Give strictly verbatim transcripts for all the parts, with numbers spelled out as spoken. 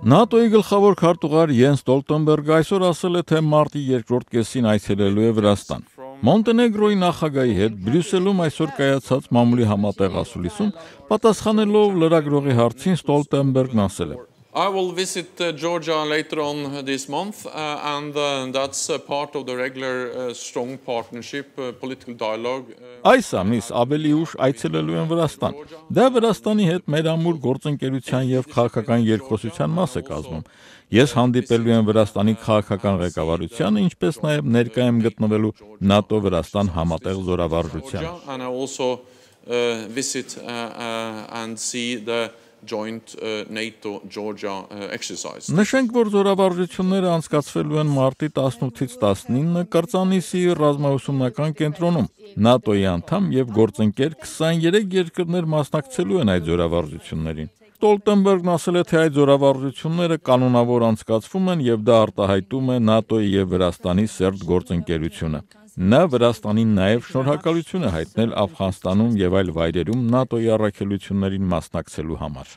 ՆԱՏՕ-ի գլխավոր քարտուղար Յենս Ստոլտենբերգը այսօր ասել է, թե մարտի երկրորդ կեսին այցելելու է Վրաստան։ Մոնտենեգրոյի նախագահի հետ Բրյուսելում այսօր կայացած մամուլի համատեղ ասուլիսում պատասխանելով լրագրողի հարցին Ստոլտենբերգն ասել է. I will visit uh, Georgia later on this month, uh, and uh, that's uh, part of the regular uh, strong partnership, uh, political dialogue. Այս ամիս ավելի ուշ այցելելու են Վրաստան։ Դա Վրաստանի հետ մեր ամուր գործընկերության եւ քաղաքական երկխոսության մաս է կազմում։ Ես հանդիպելու եմ Վրաստանի քաղաքական ղեկավարությանը, ինչպես նաեւ ներկայ եմ գտնվելու ՆԱՏՕ-Վրաստան համատեղ զորավարժությանը։ And I also uh, visit uh, uh, and see the joint uh, NATO Georgia uh, exercise. Նշենք, որ զորավարժությունները անցկացվելու են մարտի տասնութից տասնինը Կրծանիսի ռազմաուսումնական կենտրոնում։ ՆԱՏՕ-ի անդամ եւ գործընկեր քսաներեք երկրներ մասնակցելու են այդ զորավարժություններին։ Ստոլտենբերգն ասել է, թե այդ զորավարժությունները կանոնավոր անցկացվում են եւ դա արտահայտում է ՆԱՏՕ-ի եւ Վրաստանի սերտ գործընկերությունը։ Նա Վրաստանին նաև շնորհակալություն է հայտնել Աֆղանստանում եւ այլ վայրերում ՆԱՏՕ-ի առաքելություններին մասնակցելու համար։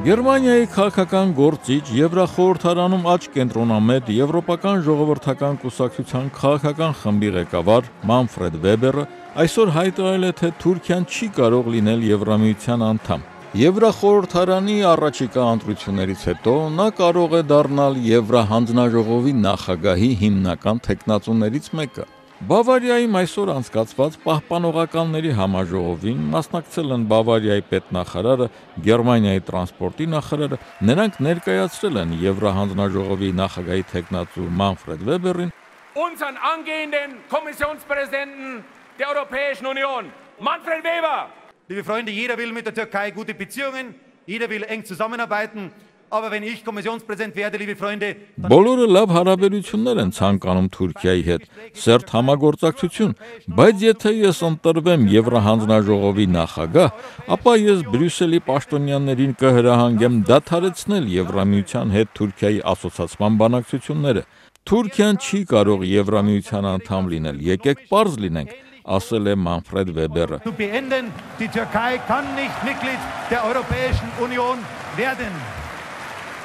Գերմանիայի քաղաքական գործիչ Եվրախորհրդարանում աճ կենտրոնամետ Եվրոպական ժողովրդական կուսակցության քաղաքական խմբի ղեկավար Մանֆրեդ Վեբերը այսօր հայտարարել է, թե Թուրքիան չի կարող լինել Եվրամիության անդամ։ Եվրախորհրդարանի առաջիկա ընտրություններից հետո նա կարող է դառնալ Եվրահանձնաժողովի նախագահի հիմնական թեկնածուներից մեկը։ Բավարիայում այսօր անցկացված պահպանողականների համաժողովին մասնակցել են Բավարիայի պետնախարարը, Գերմանիայի տրանսպորտի նախարարը, նրանք ներկայացրել են Եվրահանձնաժողովի նախագահի թեկնածու Մանֆրեդ Վեբերին, unseren angehenden Kommissionspräsidenten der Europäischen Union, Manfred Weber. Liebe Freunde, jeder will mit der Türkei gute Beziehungen, jeder will eng zusammenarbeiten, aber wenn ich Kommissionspräsident werde, liebe Freunde, բոլորը լավ հարաբերություններ են ցանկանում Թուրքիայի հետ, սերտ համագործակցություն, բայց եթե ես ընտրվեմ Եվրահանձնաժողովի նախագահ, ապա ես Բրյուսելի պաշտոնյաներին կհրահանգեմ դադարեցնել Եվրամիության հետ Թուրքիայի ասոցացման բանակցությունները։ Թուրքիան չի կարող Եվրամիության անդամ լինել, եկեք պարզ լինենք, ասել է Մանֆրեդ Վեբերը։ zu beenden, die Türkei kann nicht Mitglied der Europäischen Union werden.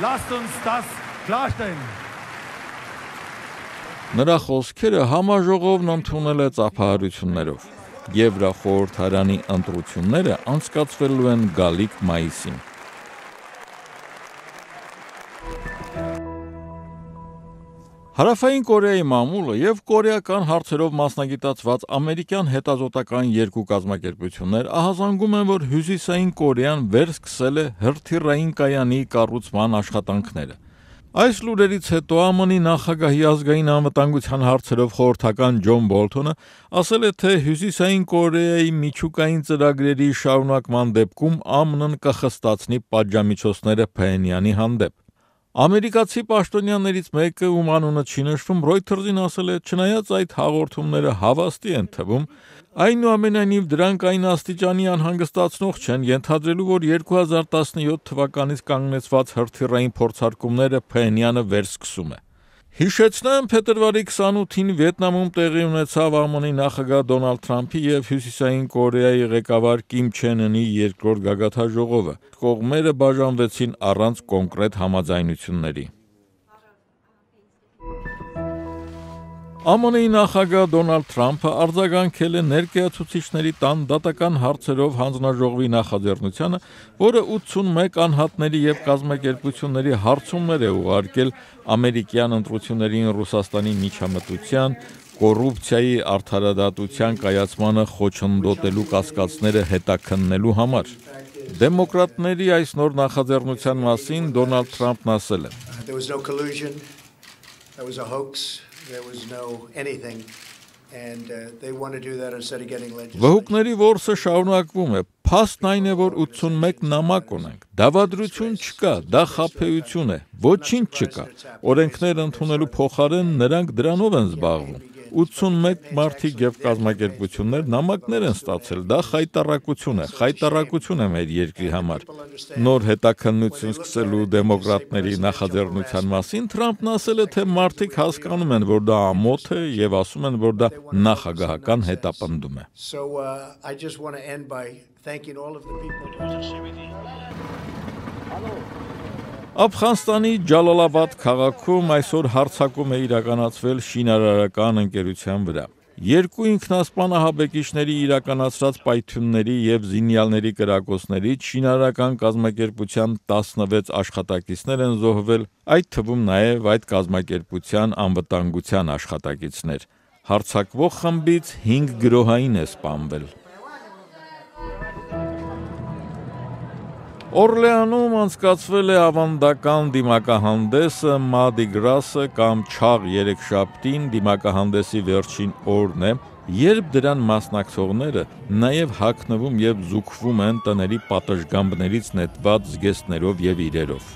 Lasst uns das klarstellen. Նրա խոսքերը համաժողովն ընդունել է ծափահարություններով։ Եվրախորհրդարանի ընտրությունները անցկացվելու են գալիք մայիսին։ Հարավային Կորեայի մամուլը եւ կորեական հարցերով մասնագիտացված ամերիկյան հետազոտական երկու կազմակերպություններ ահազանգում են, որ Հյուսիսային Կորեան վերսկսել է հրթիռային կայանի կառուցման աշխատանքները։ Այս լուրերից հետո ԱՄՆ-ի նախագահի ազգային անվտանգության հարցերով խորհրդական Ջոն Բոլթոնը ասել է, թե Հյուսիսային Կորեայի միջուկային ծրագրերի շարունակման դեպքում ԱՄՆ-ն կխստացնի պատժամիջոցները Փհենյանի հանդեպ։ Ամերիկացի պաշտոնյաներից մեկը, ում անունը չի նշվում, Reuters-ին ասել է, չնայած այդ հաղորդումները հավաստի են թվում, այնուամենայնիվ դրանք այն աստիճանի անհանգստացնող չեն, ենթադրելու, որ երկու հազար տասնյոթ թվականից կանգնեցված հրթիռային փորձարկումները Փհենյանը վերսկսում է։ Հիշեցնեմ, փետրվարի քսանութին Վիետնամում տեղի ունեցավ ԱՄՆ-ի նախագահ Դոնալդ Թրամփի եւ Հյուսիսային Կորեայի ղեկավար Կիմ Չեն Ընի երկրորդ գագաթնաժողովը։ Կողմերը բաժանվեցին առանց կոնկրետ համաձայնությունների։ ԱՄՆ-ի նախագահ Դոնալդ Թրամփը արձագանքել է ներկայացուցիչների տան դատական հարցերով հանձնաժողովի նախաձեռնությանը, որը ութսունմեկ անհատների եւ կազմակերպությունների հարցումներ է ուղարկել ամերիկյան ընտրություններին Ռուսաստանի միջամտության, կոռուպցիայի արդարադատության կայացմանը խոչընդոտելու կասկածները հետաքննելու համար։ Դեմոկրատների այս նոր նախաձեռնության մասին Դոնալդ Թրամփն ասել է. There was no collusion. There was a hoax. There was no anything, and uh, they want to do that instead of getting legislation. Վհուկների որսը շարունակվում է։ Փաստն այն է, որ ութսունմեկ նամակ ունենք։ Դավադրություն չկա, դա խաբեություն է։ Ոչինչ չկա։ Օրենքներ ընդունելու փոխարեն նրանք դրանով են զբաղվում։ ութսունմեկ մարդիկ եւ կազմակերպություններ նամակներ են ստացել, դա խայտառակություն է, խայտառակություն է մեր երկրի համար։ Նոր հետաքննություն սկսելու դեմոկրատների նախաձեռնության մասին Թրամփն ասել է, թե մարդիկ հասկանում են, որ դա ամոթ է եւ ասում են, որ դա նախագահական հետապնդում է։ So uh, I just want to end by thanking all of the people. Աֆղանստանի Ջալալաբադ քաղաքում այսօր հարձակում է իրականացվել շինարարական ընկերության վրա։ Երկու ինքնասպան ահաբեկիչների իրականացրած պայթյունների եւ զինյալների կրակոցներից շինարարական կազմակերպության տասնվեց աշխատակիցներ են զոհվել, այդ թվում նաեւ այդ կազմակերպության անվտանգության աշխատակիցներ։ Հարձակվող խմբից հինգ գրոհային է սպանվել։ Օրլեանում անցկացվել է ավանդական դիմակահանդեսը Մադի Գրասը կամ Չաղ երեքշաբթին դիմակահանդեսի վերջին օրն է, երբ դրան մասնակցողները նաև հագնվում եւ զուգվում են տների պատշգամբներից նետված զգեստներով եւ իրերով։